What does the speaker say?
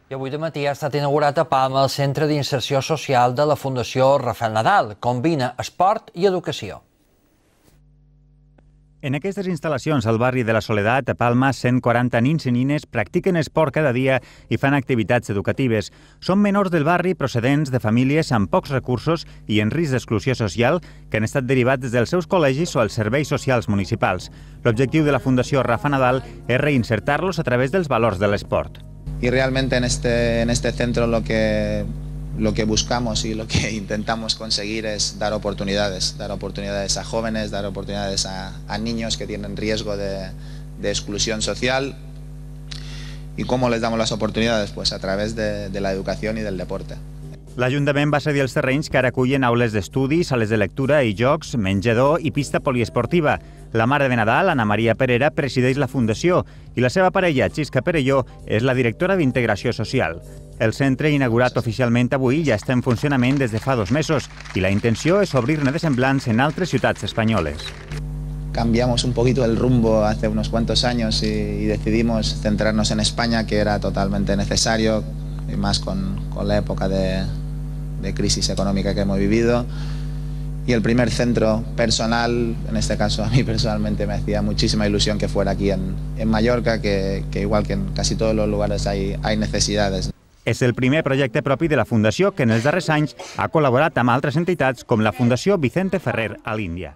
I avui de matí ha estat inaugurat a Palma el Centre d'Inserció Social de la Fundació Rafael Nadal. Combina esport i educació. En aquestes instal·lacions al barri de la Soledat, a Palma, 140 nins i nines practiquen esport cada dia i fan activitats educatives. Són menors del barri procedents de famílies amb pocs recursos i en risc d'exclusió social que han estat derivats dels seus col·legis o els serveis socials municipals. L'objectiu de la Fundació Rafa Nadal és reinsertar-los a través dels valors de l'esport. Y realmente en este centro lo que buscamos y lo que intentamos conseguir es dar oportunidades a jóvenes, dar oportunidades a niños que tienen riesgo de exclusión social. ¿Y cómo les damos las oportunidades? Pues a través de la educación y del deporte. L'Ajuntament va cedir els terrenys que ara acullen aules d'estudi, sales de lectura i jocs, menjador i pista poliesportiva. La mare de Nadal, Ana Maria Perera, presideix la Fundació i la seva parella, Xisca Perelló, és la directora d'Integració Social. El centre, inaugurat oficialment avui, ja està en funcionament des de fa 2 mesos i la intenció és obrir-ne de semblants en altres ciutats espanyoles. Cambiamos un poquito el rumbo hace unos cuantos años y decidimos centrarnos en España, que era totalmente necesario, y más con la época de crisis económica que hemos vivido. Y el primer centro personal, en este caso a mí personalmente me hacía muchísima ilusión que fuera aquí en Mallorca, que igual que en casi todos los lugares hay necesidades. És el primer projecte propi de la Fundació que en els darrers anys ha col·laborat amb altres entitats com la Fundació Vicente Ferrer a l'Índia.